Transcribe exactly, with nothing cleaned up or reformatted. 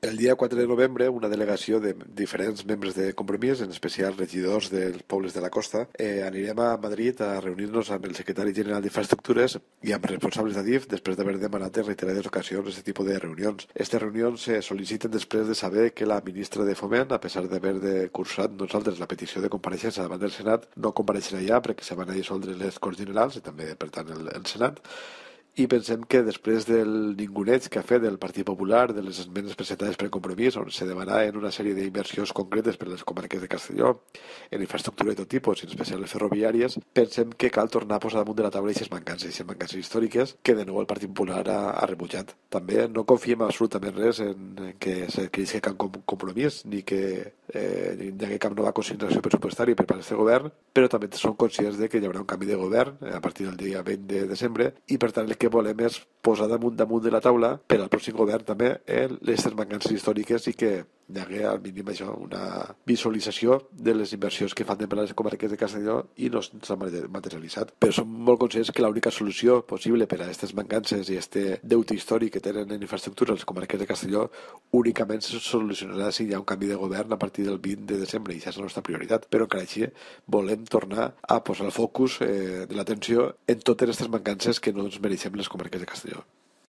El dia quatre de novembre, una delegació de diferents membres de Compromís, en especial regidors dels pobles de la costa, eh, anirem a Madrid a reunir-nos amb el secretari general d'Infraestructures i amb responsables d'Adif després d'haver demanat en reiterades ocasions aquest tipus de reunions. Aquestes reunions se sol·liciten després de saber que la ministra de Foment, a pesar d'haver de cursat nosaltres la petició de compareixença davant del Senat, no compareixerà ja perquè se van a dissoldre les Corts Generals i també, per tant, el, el Senat. I pensem que després del ninguneig que ha fet el Partit Popular, de les esmenes presentades per Compromís, on se demana en una sèrie d'inversions concretes per a les comarques de Castelló, en infraestructura de tot tipus, en especial les ferroviàries, pensem que cal tornar a posar damunt de la taula aquestes mancances, aquestes mancances històriques que de nou el Partit Popular ha, ha rebutjat. També no confiem absolutament res en, en que se creixi cap compromís, ni que eh, hi hagi cap nova consignació pressupostària per part d'aquest govern, però també som conscients de que hi haurà un canvi de govern a partir del dia vint de desembre i, per tant, el que volem és posar damunt damunt de la taula per al pròxim govern també eh, les mancances històriques i que hi hagi al mínim això, una visualització de les inversions que fan de per les comarques de Castelló i no s'han materialitzat. Però som molt conscients que l'única solució possible per a aquestes mancances i este deute històric que tenen en infraestructura les comarques de Castelló únicament se solucionarà si hi ha un canvi de govern a partir del vint de desembre i això és la nostra prioritat. Però encara així volem tornar a posar el focus eh, de l'atenció en totes aquestes mancances que no ens mereixem les comarques de Castelló.